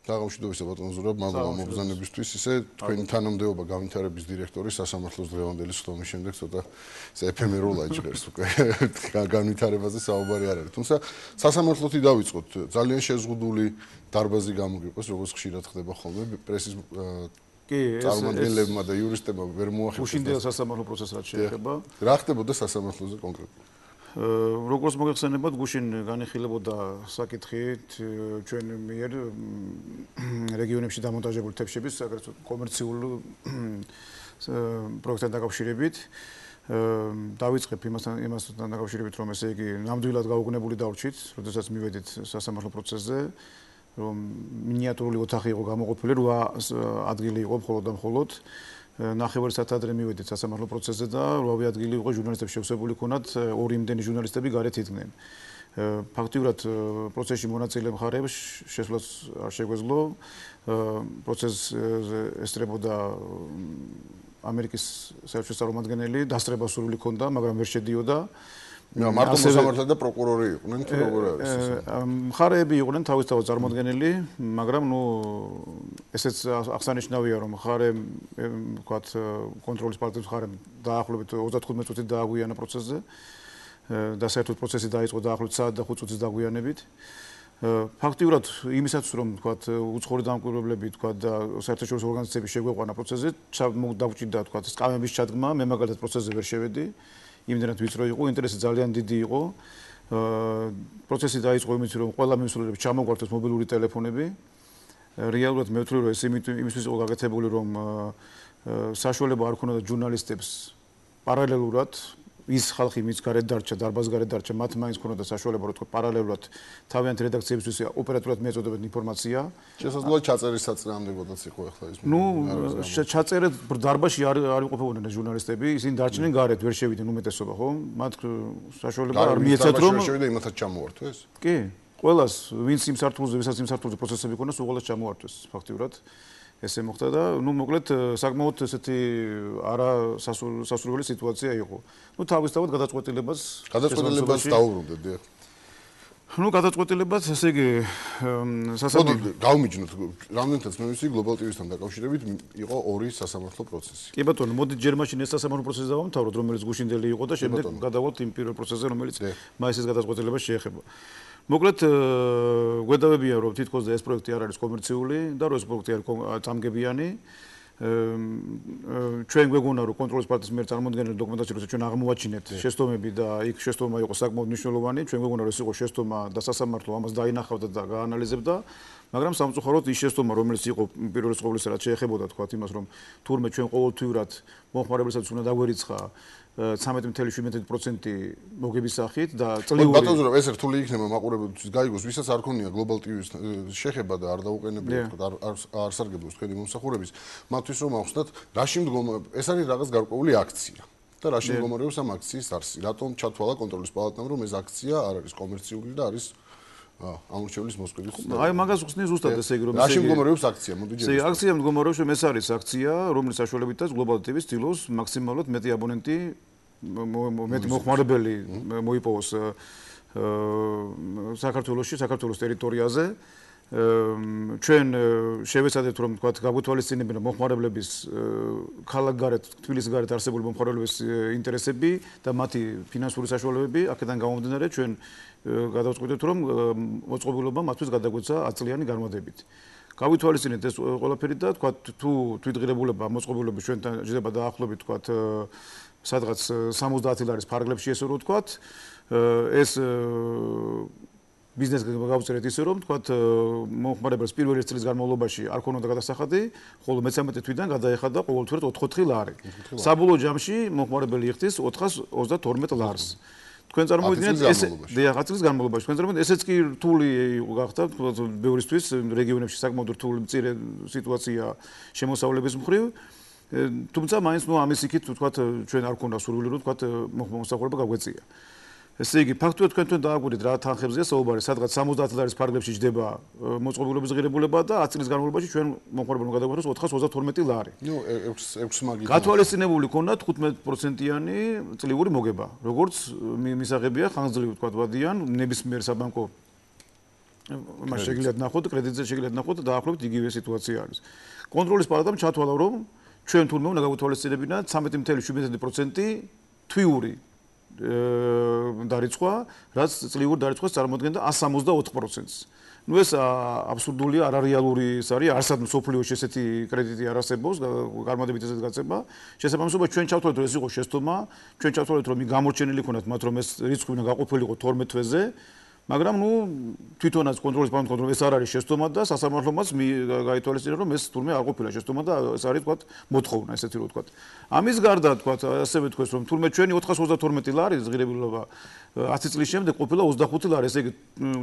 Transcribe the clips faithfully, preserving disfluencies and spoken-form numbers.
დაღამშვიდობისა ბატონო ზურაბ, მაგრამ მოგზანებისთვის ისე თქვენი თანამდებობა განვითარების დირექტორის სასამართლოს დღევანდელი სხდომის შემდეგ ცოტა ეფემერულად ჟღერს უკვე განვითარებაზე საუბარი არ არის. თუმცა სასამართლოთი დავიწყოთ. ძალიან შეზღუდული დარბაზი გამოგიყოს, როგორც ხშირად ხდება ხოლმე პრესის კი, ეს წარმომადგენლებმა და იურისტებმა ვერ მოახერხეს. გუშინდელ სასამართლო პროცესს რაც შეეხება. რა ხდებოდა სასამართლოზე კონკრეტულად? როგორც მოგეხსენებათ, გუშინ განიხილებოდა საკითხი ჩვენ მიერ რეგიონებში დამონტაჟებული თევზების აგრეთვე კომერციულ პროექტთან დაკავშირებით. დავიწყებ იმასთან იმასთან დაკავშირებით, რომ ესე იგი ნამდვილად გაუგნებული დავრჩით, როდესაც მივედით სასამართლო პროცესზე, რომ მინიატურული ოთახი იყო გამოყოფილი, რვა ადგილი იყო მხოლოდ და მხოლოდ ნახევარი საათი ადრე მივედით სასამართლო პროცესზე და რვავე ადგილი იყო ჟურნალისტებს შევსებული ქონათ, ორი იმდენი ჟურნალისტები გარეთ იდგნენ. ფაქტიურად პროცესში მონაწილე მხარეებს შესვლაც არ შეგვეძლო. პროცესს ესწრებოდა ამერიკის საერთაშორისო წარმომადგენელი, დასწრება სურვილი ჰქონდა, მაგრამ ვერ შედიოდა. მარტო მოსამართლე და პროკურორი იყვნენ თუ როგორ არის? მხარეები იყვნენ თავისთავად წარმოადგენელი, მაგრამ ნუ ესეც აღსანიშნავია, რომ მხარე ვთქვათ კონტროლის პარტიის მხარემ დაახლოებით ოცდათხუთმეტ წუთით დააგვიანა პროცესზე და საერთოდ პროცესი დაიწყო დაახლოებით საათ და ხუთ წუთის დაგვიანებით. ფაქტიურად იმისაც რომ ვთქვათ უცხოური დამკვირვებლები ვთქვათ და საერთაშორისო ორგანიზაციები შეგვეყვანა პროცესზე, დავჭირდა ვთქვათ სკამების ჩადგმა, მე მაგალითად პროცესზე ვერ შევედი. იმდენად ვიწრო იყო, ინტერესი ძალიან დიდი იყო. პროცესი დაიწყო იმით, რომ ყველა მიმსვლელებს ჩამოგვართეს მობილური ტელეფონები. რეალურად მე ვთვლი, რომ ეს იმისთვის იყო გაკეთებული, რომ საშუალება არ ქონოდა ჟურნალისტებს პარალელურად ის ხალხი, ვინც გარეთ დარჩა, დარბაზ გარეთ დარჩა, მათ მაინც ქონოდა საშუალება, რომ თქო პარალელურად თავიანთი რედაქციებისთვის ოპერატიულად მიეწოდებათ ინფორმაცია. შესაძლოა ჩაწერის საწინააღმდეგოდაც იყო ახლა ის. ნუ ჩაწერე დარბაზში არ არ იყოფებოდნენ ჟურნალისტები, ისინი დარჩნენ გარეთ, ვერ შევიდნენ უმეტესობა, ხო? მათ საშუალება არ მიეცათ, რომ შევიდა იმათაც ჩამოართვეს ეს? კი, ყველას, ვინც იმ სართულზე, ვისაც იმ სართულზე პროცესები ქონდა, უყოლას ჩამოართვეს ფაქტიურად. ესე მოხდა და ნუ მოკლედ საკმაოდ ესეთი არა სასურველი სიტუაცია იყო. ნუ თავისთავად გადაწყვეტილებას გადაწყვეტილებას დაუბრუნდეთ, დიახ. ნუ გადაწყვეტილებას, ესე იგი სასამართლო გავმიჯნოთ, რამდენთაც მე ვიცი გლობალ ტივისთან დაკავშირებით იყო ორი სასამართლო პროცესი. კი ბატონო, მოდით ჯერ მაშინ ეს სასამართლო პროცესი დავამთავროთ, რომელიც გუშინდელი იყო და შემდეგ გადავალთ იმ პირველ პროცესზე, რომელიც მაისის გადაწყვეტილებას შეეხება. მოკლედ გვედავებია რომ თითქოს ეს პროექტი არ არის კომერციული და რომ ეს პროექტი არის წამგებიანი. ჩვენ გვეგონა რომ კონტროლის პარტიის მიერ წარმოქმნილი დოკუმენტაცია როცა ჩვენ აღმოვაჩინეთ შეცდომები და იქ შეცდომა იყო საკმაოდ მნიშვნელოვანი, ჩვენ გვეგონა რომ ეს იყო შეცდომა და სასამართლო ამას დაინახავდა და გაანალიზებდა, მაგრამ სამწუხაროდ ის შეცდომა რომელიც იყო პირველ ყოვლისა რაც შეეხებოდა თქვა იმას რომ თურმე ჩვენ ყოველთვიურად მომხმარებელსაც უნდა დაგვერიცხა ცამეტი ათეული შვიდ პროცენტი მოგების სახით და წლიური ბატონო ეს რთული იქნება მაყურებელთვის გაიგოს ვისაც არ ქონია გლობალ ტივის შეხება და არ დაუყენებია არ არ სარგებლობს თქვენი მომსახურების მათთვის რომ ახსნათ რაში მდგომა ეს არის რაღაც გარკვეული აქცია და რაში მდგომარეობს ამ აქციის არსი რატომ ჩათვალა კონტროლის პალატამ რომ ეს აქცია არ არის კომერციული და არის ამორჩევლის მოსყიდვის აი მაგას ხსნის ზუსტად ესე იგი რომ რაში მდგომარეობს აქცია მოდი ჯერ ეს აქცია მდგომარეობს რომ ეს არის აქცია რომლის საშუალებითაც გლობალ ტივის ცდილობს მაქსიმალურად მეტი აბონენტი მეტი მოხმარებელი მოიპოვოს საქართველოში საქართველოს ტერიტორიაზე ჩვენ შევეცადეთ რომ თქვა გაგვეთვალისწინებინა მოხმარებლების ქალაქგარეთ თბილისის გარეთ არსებული მოხმარებლების ინტერესები და მათი ფინანსური საშუალებები აქედან გამომდინარე ჩვენ გადავწყვიტეთ რომ მოწყობილობა მათთვის გადაგვეცა ათი წლიანი განმავლობით გავითვალისწინეთ ეს ყველაფერი და თქვა თუ თვითღირებულება მოწყობილობის ჩვენთან ჟდება დაახლოებით თქვა სადღაც სამოცდაათი ლარის ფარგლებში ესე რომ ვთქვათ ეს ბიზნეს გავწერეთ ისე რომ ვთქვათ მომხმარებელს პირველი წლის განმავლობაში არ ქონოდა გადასახადი, ხოლო მეთერთმეტე თვიდან გადაეხადა ყოველთვიურად ოთხი ლარი. საბოლოო ჯამში მომხმარებელი იხდის ოთხას ოცდათორმეტ ლარს. თქვენ წარმოვიდგინეთ ეს ათი წლის განმავლობაში თქვენ წარმოვიდგინეთ ესეც კი რთული გახდა ბევრისთვის რეგიონებში საკმაოდ რთული მწირე სიტუაცია შემოსავლების მხრივ თუმცა მაინც ნუ ამის იქით ვთქვათ ჩვენ არ ქონდა სურვილი რომ ვთქვათ მომსახურება გაგვეწია. ესე იგი ფაქტობრივად თქვენ დააგვირით რა თანხებზეა საუბარი, სადღაც სამოცდაათი ლარის ფარგლებში ჯდება მოწყობილობის ღირებულება და ათი წლის განმავლობაში ჩვენ მომხმარებელმა გადაგვეცეს ოთხას ოცდათორმეტი ლარი. ნუ ექვსი მაგით. გათვალისწინებული ქონდა თხუთმეტ პროცენტიანი წლიური მოგება, როგორც მისაღებია ხანგრძლივი თქვა ვადიან ნებისმიერ საბანკო მას შეგიძლიათ ნახოთ, კრედიტზე შეგიძლიათ ნახოთ და დაახლოებით იგივე სიტუაცია არის. კონტროლის პალატამ ჩათვალა, რომ ჩვენ თურმე უნდა გაგვეთვალისწინებინათ ცამეტი ათეული შვიდმეტი პროცენტი თვიური დარიცხვა, რაც წლიური დარიცხვას წარმოადგენდა εκατს სამოცდაოთხ პროცენტს. ნუ ეს აბსურდულია, არარეალური ის არის, არსად მსოფლიოში ესეთი კრედიტი არ არსებობს, გარმადებით ესეთი გაცემა. შესაბამისად, ჩვენ ჩავთვალეთ, რომ ეს იყო შეცდომა, ჩვენ ჩავთვალეთ, რომ გამორჩენილი ქონათ მათ, რომ ეს რიცხვი უნდა გაყოფილიყო თორმეტ თვეზე. მაგრამ ნუ თვითონაც კონტროლის პალატამ კონტროლ ეს არ არის შეცდომა და სასამართლომაც გაითვალისწინა რომ ეს თურმე არ ყოფილა შეცდომა და ეს არის თქვა მოთხოვნა ესეთი რო თქვა. ამის გარდა თქვა ასევე თქვეს რომ თურმე ჩვენი ოთხას ოცდათორმეტი ლარი ღირებულობა ათი წლის შემდეგ ყოფილა ოცდახუთი ლარი, ესე იგი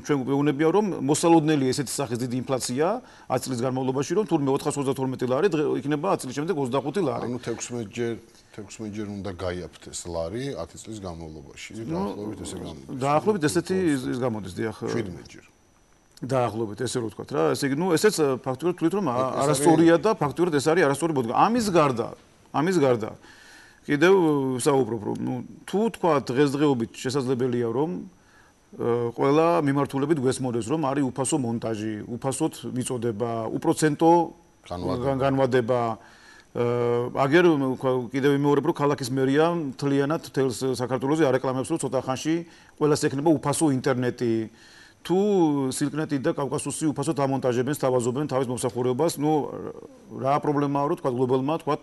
ჩვენ გვეუბნებია რომ მოსალოდნელი ესეთი სახის დიდი ინფლაცია ათი წლის განმავლობაში რომ თურმე ოთხას ოცდათორმეტი ლარი იქნება ათი წლის შემდეგ ოცდახუთი ლარი. ანუ თექვსმეტ ჯერ თექვსმეტ ჯერ უნდა გაიაფთეს ლარი ათი წლის განმავლობაში. დაახლოებით ესე გამოდის. დაახლოებით ესეთი ის გამოდის, დიახ. შვიდმეტ ჯერ. დაახლოებით ესე რო ვთქვათ რა, ესე იგი ნუ ესეც ფაქტურად თვლით რომ არასწორია და ფაქტურად ეს არის არასწორი მოდგა. ამის გარდა, ამის გარდა კიდევ საუბრობ რომ ნუ თუ თქვა დღესდღეობით შესაძლებელია რომ ყველა მიმართულებით გვესმოდეს რომ არის უფასო მონტაჟი, უფასოდ მიწოდება, უპროცენტო განვადება. აგერ კიდევ ვიმეორებ რომ ქალაქის მერია მთლიანად თელს საქართველოს არეკლამებს რომ ცოტა ხანში ყველას ექნება უფასო ინტერნეტი. თუ სილკნეტი და კავკასუსი უფასოდ ამონტაჟებენ, სთავაზობენ თავის მომსახურებას, ნუ რა პრობლემაა რომ თქვა გლობალმა თქვა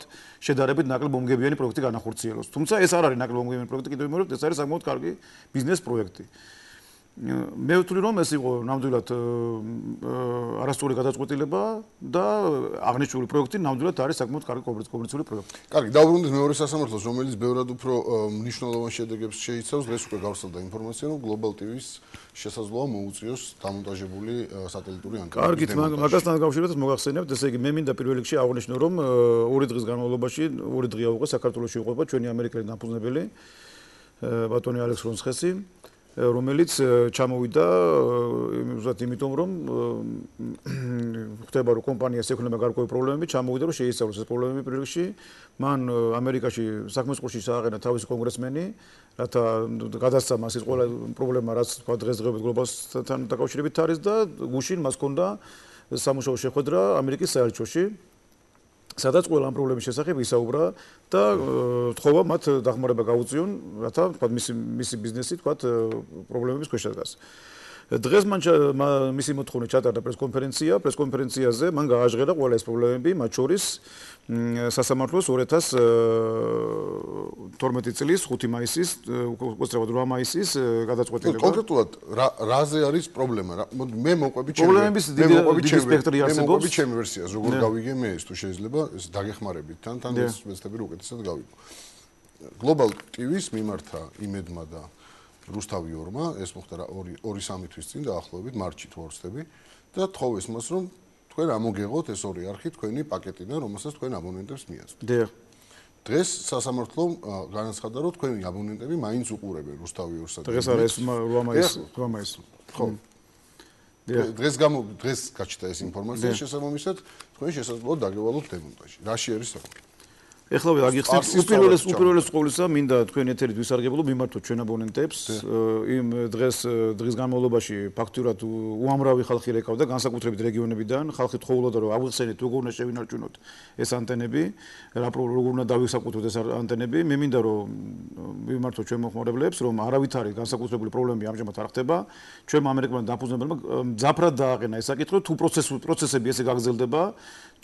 შედარებით ნაკლებ მომგებიანი პროექტი განახორციელოს. თუმცა ეს არ არის ნაკლებ მომგებიანი პროექტი, კიდევ ვიმეორებ, ეს არის საკმაოდ კარგი ბიზნეს პროექტი. მე ვთვლი რომ ეს იყო ნამდვილად არასწორი გადაწყვეტილება და აღნიშნული პროექტი ნამდვილად არის საკმაოდ კარგი კომერციული პროექტი. კარგი, დავუბრუნდეთ მეორე სასამართლოს, რომელიც ბევრად უფრო მნიშვნელოვან შედეგებს შეიცავს. დღეს უკვე გავრცელდა ინფორმაცია, რომ Global ტი ვის შესაძლოა მოუწიოს დამონტაჟებული სატელიტური ანტენები. კარგით, მაგასთან დაკავშირებით მოგახსენებთ, ესე იგი მე მინდა პირველ რიგში აღვნიშნო, რომ ორი დღის განმავლობაში, ორი დღეა უკვე საქართველოში იყვება ჩვენი ამერიკელი დამფუძნებელი ბატონი ალექს რონცხესი, რომელიც ჩამოვიდა უბრალოდ იმიტომ რომ ხდება რომ კომპანიას ექნება გარკვეული პრობლემები, ჩამოვიდა რომ შეისწავლოს ეს პრობლემები პირველ რიგში. მან ამერიკაში საქმის ყურში ჩააყენა თავისი კონგრესმენი, რათა გადასცა მას ის ყველა პრობლემა, რაც თქვა დღესდღეობით გლობალთან დაკავშირებით არის და გუშინ მას ჰქონდა სამუშაო შეხვედრა ამერიკის საელჩოში. სადაც ყველა ამ პრობლემის შესახებ ისაუბრა და თხოვა მათ დახმარება გაუწიონ, რათა თქვა მისი მისი ბიზნესი თქვა პრობლემების ქვეშ დგას. დღეს მან მისი მოთხოვნით ჩატარდა პრესკონფერენცია, პრესკონფერენციაზე მან გააჟღერა ყველა ეს პრობლემები, მათ შორის სასამართლოს ორი ათას თორმეტი წლის ხუთი მაისის, უბრალოდ რვა მაისის გადაწყვეტილება. კონკრეტულად რაზე არის პრობლემა? მე მოყვები ჩემი პრობლემების დიდი სპექტრი არსებობს. მე მოყვები ჩემი ვერსიას, როგორ გავიგე მე ეს თუ შეიძლება ეს დაგეხმარებით თან თან ეს ვეცდები რომ უკეთესად გავიგო. Global ტი ვის მიმართა იმედმა და რუსთავი ორმა, ეს მოხდა ორი სამი თვის წინ დაახლოებით მარტში თუ არ ვცდები და თხოვეს მას რომ თქვენ ამოგეღოთ ეს ორი არხი თქვენი პაკეტიდან, რომელსაც თქვენ აბონენტებს მიაწყობთ. დიახ. დღეს სასამართლომ განაცხადა, რომ თქვენი აბონენტები მაინც უყურებენ რუსთავი ორსა. დღეს არა ეს რვა მაისი, რვა მაისი. ხო. დღეს გამო დღეს გაჩნდა ეს ინფორმაცია, შესაბამისად თქვენ შესაძლოა დაგევალოთ დემონტაჟი. რაში არის საქმე? ეხლა ვაგიხსენებთ უპირველეს უპირველეს ყოვლისა მინდა თქვენ ეთერით ვისარგებლო მიმართოთ ჩვენ აბონენტებს იმ დღეს დღის განმავლობაში ფაქტურად უამრავი ხალხი რეკავდა განსაკუთრებით რეგიონებიდან ხალხი თხოვლოდა რომ აღვიხსენეთ როგორ უნდა შევინარჩუნოთ ეს ანტენები რა როგორ უნდა დავისაკუთროთ ეს ანტენები მე მინდა რომ მიმართოთ ჩვენ მოხმარებლებს რომ არავითარი განსაკუთრებული პრობლემები ამჟამად არ ხდება ჩვენ ამერიკელმა დამფუძნებელმა მძაფრად დააყენა ეს საკითხი თუ პროცესები ესე გაგრძელდება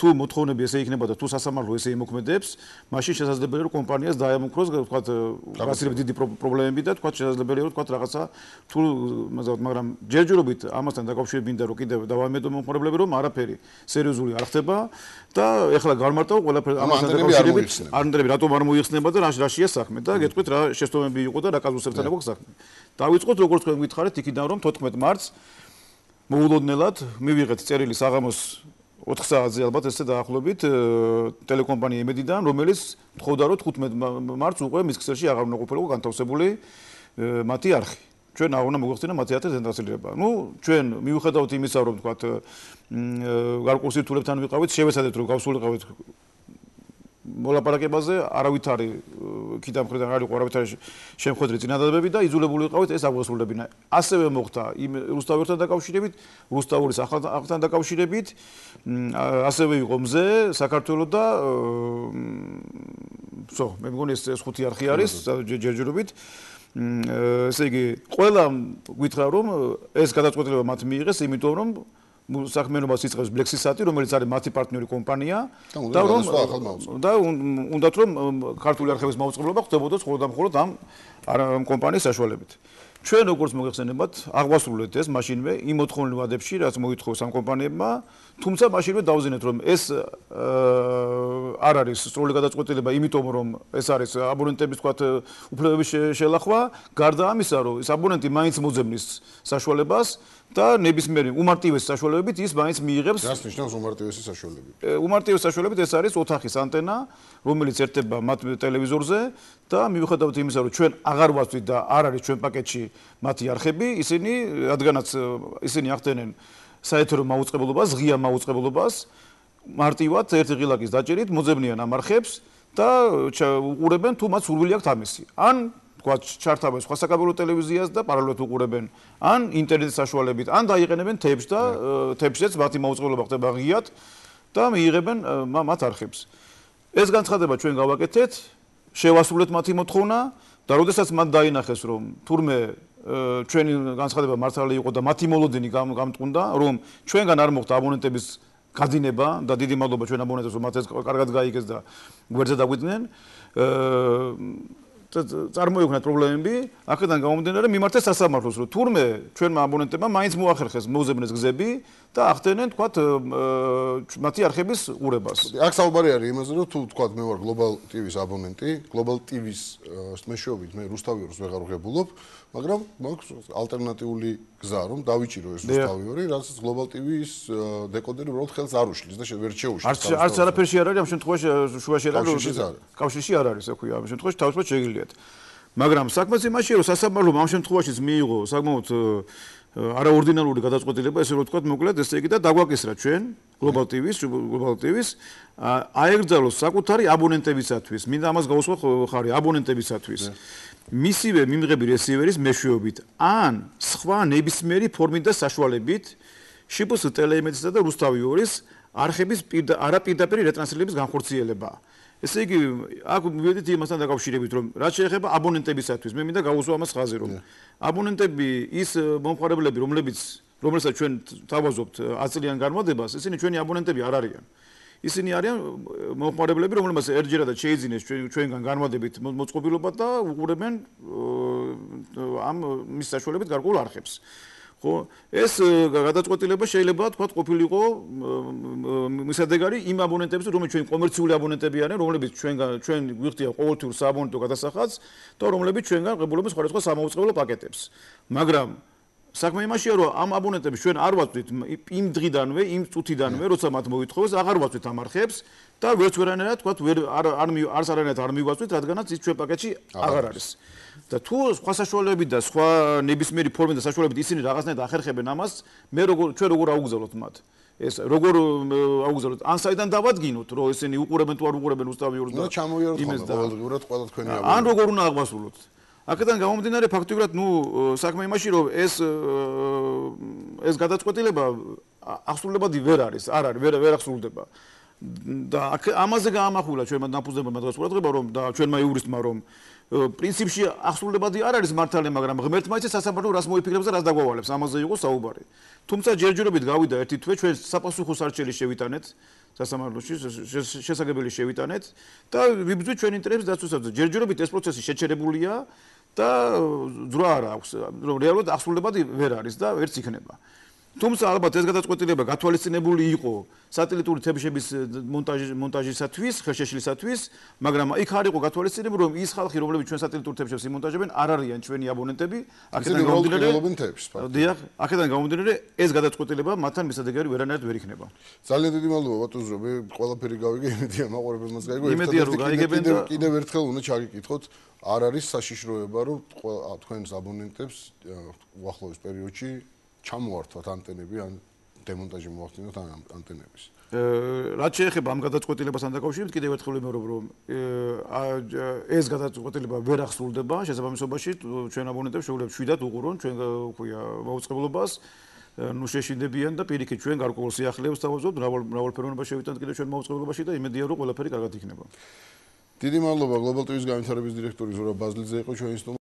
თუ მოთხოვნები ესე იქნება და თუ სასამართლო ესე იმოქმედებს მაშინ შესაძლებელია რომ კომპანიას დაემუქროს თქვა გასირებ დიდი პრობლემები და თქვა შესაძლებელია რომ თქვა რაღაცა თუ მაგრამ ჯერჯერობით ამასთან დაკავშირებით მინდა რომ კიდევ დავამედო მომხმარებლები რომ არაფერი სერიოზული არ ხდება და ეხლა გამარტავ ყველაფერი ამასთან დაკავშირებით ანტენები რატომ არ მოიხსნება და რაშია საქმე და გეტყვით რა შეცდომები იყო და რა კაზუსებთან იყო საქმე დავიწყოთ როგორც თქვენ გითხარით იქიდან რომ თოთხმეტ მარტს მოულოდნელად მივიღეთ წერილი საღამოს ოთხ საათზე ალბათ ესე დაახლოებით ტელეკომპანია იმედიდან რომელიც თხოვდა რომ თხუთმეტ მარტს უკვე მის ქსელში აღარ უნდა ყოფილიყო განთავსებული მათი არხი ჩვენ არ უნდა მოგვეხსენა მათი არხის დაწესება ნუ ჩვენ მივუხედავთ იმისა რომ თქვათ გარკვეულ სირთულებთან ვიყავით შევეცადეთ რომ გავსულიყავით მოლაპარაკებაზე არავითარი ქიდა მხრიდან არ იყო არავითარი შემხედრი წინადადებები და იძულებული ვიყავით ეს აგვასრულებინა. ასევე მოხდა იმ რუსთავერთან დაკავშირებით, რუსთავურის ახალთან დაკავშირებით, ასევე იყო მზე საქართველოს და ვსო, მე მგონი ეს ხუთი არხი არის ჯერჯერობით. ესე იგი, ყველა გითხრა რომ ეს გადაწყვეტილება მათ მიიღეს, იმიტომ რომ საქმიანობას იწყებს Blexisat-ი, რომელიც არის მათი პარტნიორი კომპანია და რომ და უნდათ რომ ქართული არხების მაუწყებლობა ხდებოდოს მხოლოდ და მხოლოდ ამ კომპანიის საშუალებით. ჩვენ როგორც მოგეხსენებათ, აღვასრულეთ ეს მაშინვე იმ მოთხოვნილ ვადებში, რაც მოითხოვს ამ კომპანიებმა, თუმცა მაშინვე დავზინეთ რომ ეს არ არის სწორული გადაწყვეტილება, იმიტომ რომ ეს არის აბონენტების თქვათ უფლებების შელახვა, გარდა ამისა, რომ ეს აბონენტი მაინც მოძებნის საშუალებას და ნებისმიერი უმარტივესი საშუალებებით ის მაინც მიიღებს. რას ნიშნავს უმარტივესი საშუალებით? უმარტივესი საშუალებით ეს არის ოთახის ანტენა, რომელიც ერთება მათ ტელევიზორზე და მიუხედავად იმისა, რომ ჩვენ აღარ ვაცვლით და არ არის ჩვენ პაკეტში მათი არხები, ისინი რადგანაც ისინი ახდენენ საეთერო მაუწყებლობას, ღია მაუწყებლობას, მარტივად ერთი ღილაკის დაჭერით მოძებნიან ამ არხებს და უყურებენ თუ მათ სურვილი აქვთ ამისი. ან თქვათ ჩართავენ სხვა საკაბელო ტელევიზიას და პარალელურად უყურებენ, ან ინტერნეტის საშუალებით, ან დაიყენებენ თებს და თებშიც მათი მაუწყებლობა ხდება ღიად და მიიღებენ მათ არხებს. ეს განცხადება ჩვენ გავაკეთეთ, შევასრულეთ მათი მოთხოვნა და როდესაც მათ დაინახეს რომ თურმე ჩვენი განცხადება მართალი იყო და მათი მოლოდინი გამტყუნდა, რომ ჩვენგან არ მოხდა აბონენტების გაძინება და დიდი მადლობა ჩვენ აბონენტებს რომ მათ ეს კარგად გაიგეს და გვერდზე დაგვიდნენ. წარმოიქმნა პრობლემები, აქედან გამომდინარე მიმართეს სასამართლოს, რომ თურმე ჩვენმა აბონენტებმა მაინც მოახერხეს მოუძებნეს გზები და ახდენენ თქვათ მათი არხების ყურებას. აქ საუბარი არის იმაზე, რომ თუ თქვათ მე ვარ Global ტი ვის აბონენტი, Global ტი ვის მეშვეობით მე რუსთავიორს ვეღარ ვღებულობ, მაგრამ მაქვს ალტერნატიული გზა, რომ დავიჭირო ეს რუსთავიორი, რასაც Global ტი ვის დეკოდერი უბრალოდ ხელს არ უშლის და ვერ შეუშლის. არც არაფერში არ არის ამ შემთხვევაში შუაში არ არის. კავშირში არ არის, ექვია ამ შემთხვევაში თავისუფლად შეგიძლიათ. მაგრამ საქმეც იმაშია, რომ სასამართლომ ამ შემთხვევაშიც მიიღო საკმაოდ არაორდინალური გადაწყვეტილება, ესე რომ ვთქვათ, მოკლედ ესე იგი და დაგვაკისრა ჩვენ Global ტი ვის, Global ტი ვის აეგრძალოს საკუთარი აბონენტებისათვის, მინდა ამას გავუსვა ხარი აბონენტებისათვის. მისივე მიმღები რესივერის მეშვეობით ან სხვა ნებისმიერი ფორმით და საშუალებით შპს ტელეიმედიასა და რუსთავიორის არხების არაპირდაპირი რეტრანსლირების განხორციელება. ესე იგი, აქ მივედით იმასთან დაკავშირებით, რომ რაც შეეხება აბონენტებისათვის, მე მინდა გავუსვა ამას ხაზი, რომ აბონენტები ის მომხმარებლები, რომლებიც რომელსაც ჩვენ თავაზობთ ათი წლიან განმავლობას, ისინი ჩვენი აბონენტები არ არიან. ისინი არიან მომხმარებლები, რომლებსაც ერთჯერადად შეიძინეს ჩვენგან განმავლობით მოწყობილობა და უყურებენ ამ მის საშუალებით გარკვეულ არხებს. ხო, ეს გადაწყვეტილება შეიძლება თქვა ყოფილიყო მისადეგარი იმ აბონენტების, რომლებიც ჩვენ კომერციული აბონენტები არიან, რომლებიც ჩვენგან ჩვენ გვიხდია ყოველთვიურ სააბონენტო გადასახადს და რომლებიც ჩვენგან ღებულობენ სხვადასხვა სამაუწყებლო პაკეტებს. მაგრამ საქმე იმაშია, რომ ამ აბონენტებს ჩვენ არ ვაცვლით იმ დღიდანვე, იმ წუთიდანვე, როცა მათ მოითხოვეს, აღარ ვაცვლით ამ არხებს და ვერც ვერანაირად თქვა ვერ არ არც არანაირად არ მივაცვლით, რადგანაც ის ჩვენ პაკეტში აღარ არის. და თუ სხვა საშუალებებით და სხვა ნებისმიერი ფორმით და საშუალებით ისინი რაღაცნაირად ახერხებენ ამას, მე როგორ ჩვენ როგორ აუგზავნოთ მათ? ეს როგორ აუგზავნოთ? ან საიდან დავადგინოთ, რომ ისინი უყურებენ თუ არ უყურებენ უსტავიორს და იმეს და ყოველდღიურად ყველა თქვენი აბონენტი. ან როგორ უნდა აღვასრულოთ? აქედან გამომდინარე ფაქტობრივად, ნუ საქმე იმაში, რომ ეს ეს გადაწყვეტილება აღსრულებადი ვერ არის, არ არის, ვერ ვერ აღსრულდება. და ამაზე გაამახვილა ჩვენმა დაფუძნებელმა დღეს ყურადღება, რომ და ჩვენმა იურისტმა, რომ პრინციპში აღსრულებადი არ არის მართალი, მაგრამ ღმერთმა იცის სასამართლო რას მოიფიქრებს და რას დაგვავალებს, ამაზე იყო საუბარი. თუმცა ჯერჯერობით გავიდა ერთი თვე, ჩვენ საპასუხო სარჩელი შევიტანეთ სასამართლოში, შესაძლებელი შევიტანეთ და ვიბრძვით ჩვენ ინტერესებს დაცვისას. ჯერჯერობით ეს პროცესი შეჩერებულია და ძრა არ აქვს, რომ რეალურად აღსრულებადი ვერ არის და ვერც იქნება. თუმცა ალბათ ეს გადაწყვეტილება გათვალისწინებული იყო სატელიტური თებშების მონტაჟისათვის, ხელშეშლისათვის, მაგრამ იქ არ იყო გათვალისწინებული, რომ ის ხალხი, რომლებიც ჩვენ სატელიტურ თებშებს იმონტაჟებენ, არ არიან ჩვენი აბონენტები. აქედან გამომდინარე, დიახ, აქედან გამომდინარე, ეს გადაწყვეტილება მათთან მისადეგარი ვერანაირად ვერ იქნება. ძალიან დიდი მადლობა ბატონო, მე ყველაფერი გავიგე, იმედია მაყურებელმაც გაიგო. იმედია რომ გაიგებენ და კიდევ ერთხელ უნდა ჩაგიკითხოთ, არ არის საშიშროება, რომ თქვენს აბონენტებს უახლოეს პერიოდში ჩამოართვათ ანტენები ან დემონტაჟი მოახდინოთ ამ ანტენების. რაც შეეხება ამ გადაწყვეტილებასთან დაკავშირებით, კიდევ ერთხელ ვიმეორებ, რომ ეს გადაწყვეტილება ვერ ახსულდება შესაბამისობაში, ჩვენ აბონენტებს შეუძლებთ შვიდად უყურონ ჩვენ ქვია მაუწყებლობას, ნუ შეშინდებიან და პირიქით ჩვენ გარკვეულ სიახლეებს თავაზობთ, მრავალფეროვნება შევიტანთ კიდევ ჩვენ მაუწყებლობაში და იმედია რომ ყველაფერი კარგად იქნება. დიდი მადლობა გლობალ ტივის განვითარების დირექტორი ზურაბ ბაზლიძე იყო ჩვენი სტუმარი.